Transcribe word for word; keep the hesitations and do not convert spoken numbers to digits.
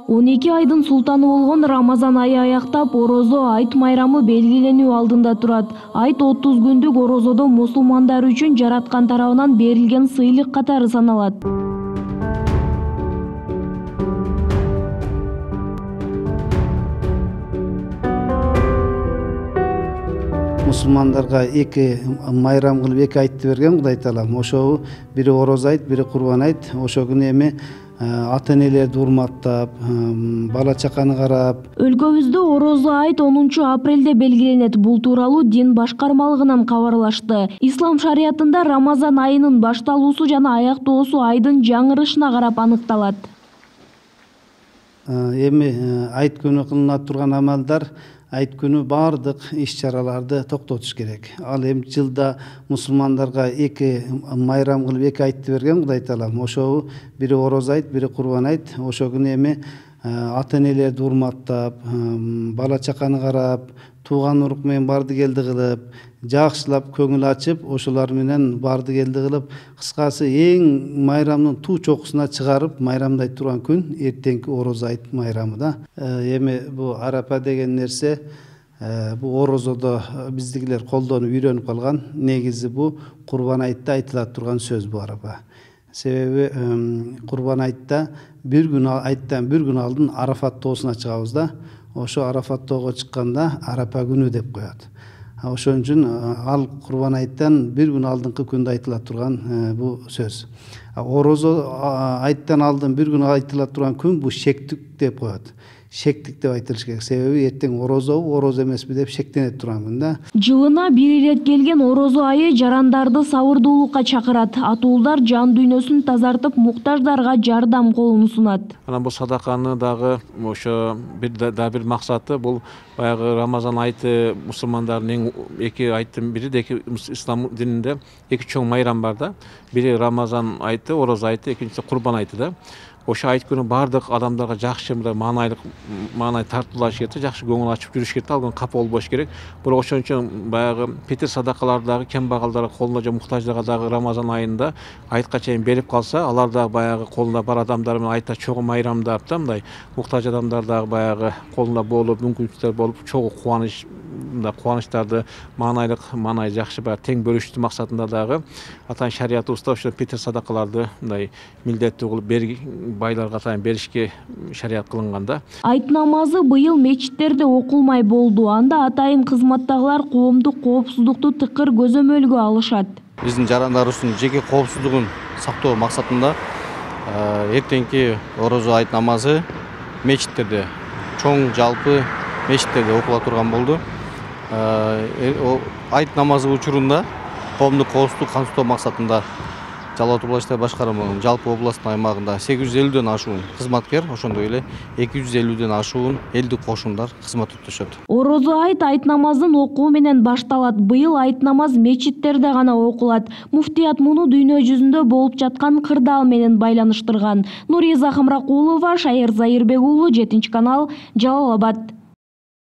он эки айдын султаны болгон Рамазан айы аяктап, орозо айт майрамы белгиленүү алдында турат. Айт отуз күндүк орозодо мусулмандар үчүн жараткан тарабынан берилген сыйлык катары саналат. Мусулмандарга эки майрам кылып эки айтты берген Кудай Таалам. Ошо бири орозо айт, бири курбан айт. Ошо күнү эми ата-энелерди урматтап, бала чаканы карап. Өлкөбүздө орозо айт онунчу апрелде белгиленет. Бул тууралуу дин башкармалыгынан кабарлашты. Ислам шариятында Рамазан айынын башталуусу жана аяктоосу айдын жаңырышына карап аныкталат. Эми айт күнү кылынат турган амалдар, айт күнү бардык иш-чараларды токтотуш керек. Ал эми жылда мусулмандарга эки майрам кылып эки айтты берген Кудай Таалам. Ошо бири орозо айт, бири курбан айт. Ошо күнү эми ата-энелерди урматтап, бала чаканы карап, тууган урук менен барды келди кылып, жакшылап көңүл ачып, ошолар менен барды келди кылып, кыскасы эң майрамдын туу чокусуна чыгарып майрамдай турган күн эртеңки орозо айт майрамы да. Эми бу арапа деген нерсе бу орозодо биздикилер колдонуп үйрөнүп калган. Негизи бу курбан айтта айтыла турган сөз бу арапа. Себеби курбан айтта бир күн айттан бир күн алдын Арафат тоосуна чыгабыз да. Ошо Арафат тоого чыкканда арапа күнү деп коет. Ошон үчүн ал курбан айттан бир күн алдыңкы күндө айтыла турган бу сөз. Орозо айттан алдын бир күн айтыла турган күн бу шектик деп коет. Шектик деп айтылыш керек. Себеби эртең орозо, орозо эмеспи деп шектенет турган күн да. Жылына бир ирет келген орозо айы жарандарды сабырдуулукка чакырат. Атуулдар жан дүйнөсүн тазартып, муктаждарга жардам колун сунат. Анан бул садаканы дагы ошо бир да бир максаты бул баягы Рамазан айты мусулмандардын эки айттын бири де ислам дининде эки чоң майрам бар да. Бири Рамазан айты, орозо айты, экинчиси курбан айты да. Ошо айт күнү бардык адамдарга жакшы маанайлык маанай тартуулаш керек, жакшы көңүл ачып жүрүш керек, ал күнү капа болбош керек. Бирок ошон үчүн баягы петир садакаларды дагы кембагалдарга, колуна же муктаждарга дагы Рамазан айында айтка чейин берип калса, алар дагы баягы колунда бар адамдар менен айтта чогуу майрамдап да мындай муктаж адамдар дагы баягы колунда болуп, мүмкүнчүлүктөр болуп, чогуу кубаныч мындай кубанычтарды маанайлык, маанай жакшы баягы тең бөлүштүү максатында дагы атайын шариятыбызда ошо петир садакаларды мындай милдеттүү кылып берги байларга атайын беришке шарият кылынганда. Айт намазы быйыл мечиттерде окулмай болду. Анда атайын кызматтагылар коомдук коопсуздукту тыкыр көзөмөлгө алышат. Биздин жарандарыбыздын жеке коопсуздугун сактоо максатында эртеңки орозо айт намазы мечиттерде, чоң жалпы мечиттерде окула турган болду. Айт намазы учурунда коомдук коопсуздук камсыздоо максатында Жалал Абад областық башкарманын жалпы областтын аймагында сегиз жүз элүүдөн ашуун кызматкер, ошондой эле эки жүз элүүдөн ашуун элдик кошумдар кызмат өтөшөт. Орозо айт айт намазын окуу менен башталат. Быйыл айт намаз мечиттерде гана окулат. Муфтият муну дүйнө жүзүндө болуп жаткан кырдаал менен байланыштырган. Нуриза Хамракулова, Шайыр Зайырбек уулу, жетинчи канал, Жалал Абад.